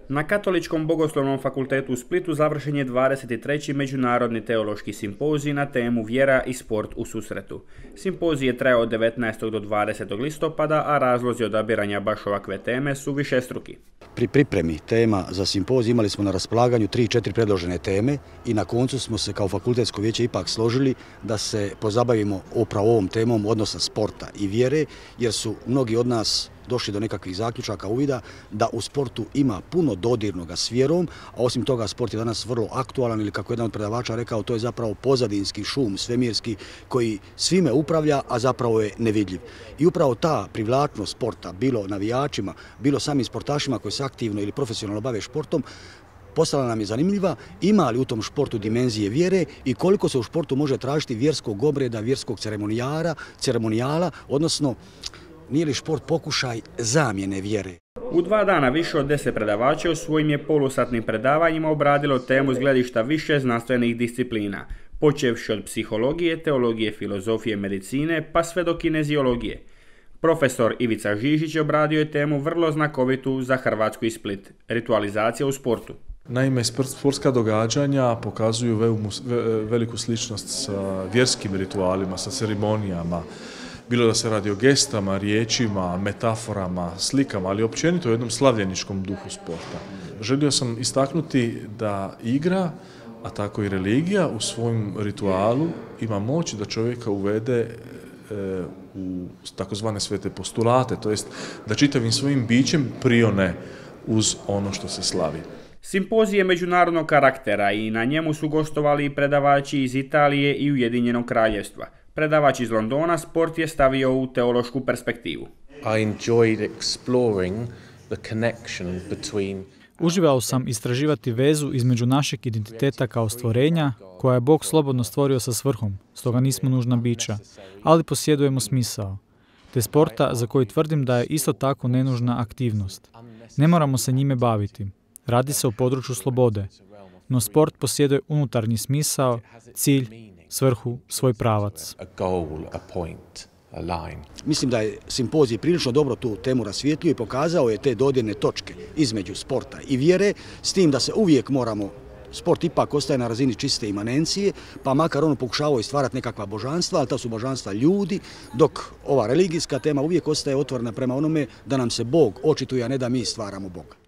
Na Katoličkom bogoslovnom fakultetu u Splitu završen je 23. Međunarodni teološki simpozij na temu Vjera i sport u susretu. Simpozij je trajao od 19. do 20. listopada, a razlozi odabiranja baš ovakve teme su višestruki. Pri pripremi tema za simpozij imali smo na raspolaganju 3-4 predložene teme i na koncu smo se kao fakultetsko vijeće ipak složili da se pozabavimo upravo ovom temom odnosa sporta i vjere, jer su mnogi od nas došli do nekakvih zaključaka, uvida da u sportu ima puno dodirnoga s vjerom, a osim toga sport je danas vrlo aktualan, ili kako jedan od predavača rekao, to je zapravo pozadinski šum svemirski koji svime upravlja, a zapravo je nevidljiv. I upravo ta privlačnost sporta, bilo navijačima, bilo samim sportašima koji se aktivno ili profesionalno bave športom, postala nam je zanimljiva, ima li u tom športu dimenzije vjere i koliko se u športu može tražiti vjerskog obreda, vjerskog ceremonijala, odnosno nije li šport pokušaj zamjene vjere? U 2 dana više od 10 predavača u svojim je polusatnim predavanjima obradilo temu s gledišta više znanstvenih disciplina, počevši od psihologije, teologije, filozofije, medicine, pa sve do kineziologije. Profesor Ivica Žižić obradio je temu vrlo znakovitu za Hrvatsku i Split – ritualizacija u sportu. Naime, sportska događanja pokazuju veliku sličnost sa vjerskim ritualima, sa ceremonijama, bilo da se radi o gestama, riječima, metaforama, slikama, ali općenito o jednom slavljeničkom duhu sporta. Želio sam istaknuti da igra, a tako i religija u svojem ritualu ima moć da čovjeka uvede u takozvane svete postulate, to jest da čitavim svojim bićem prione uz ono što se slavi. Simpozij je međunarodnog karaktera i na njemu su gostovali i predavači iz Italije i Ujedinjenog Kraljevstva. Predavač iz Londona sport je stavio u teološku perspektivu. Uživao sam istraživati vezu između našeg identiteta kao stvorenja, koja je Bog slobodno stvorio sa svrhom, stoga nismo nužna bića, ali posjedujemo smisao, te sporta za koji tvrdim da je isto tako nenužna aktivnost. Ne moramo se njime baviti. Radi se o području slobode, no sport posjeduje unutarnji smisao, cilj, svrhu, svoj pravac. Mislim da je simpozij prilično dobro tu temu rasvijetlio i pokazao je te dodirne točke između sporta i vjere, s tim da se uvijek sport ipak ostaje na razini čiste imanencije, pa makar ono pokušavao i stvarati nekakva božanstva, ali ta su božanstva ljudi, dok ova religijska tema uvijek ostaje otvorena prema onome da nam se Bog očituje, a ne da mi stvaramo Boga.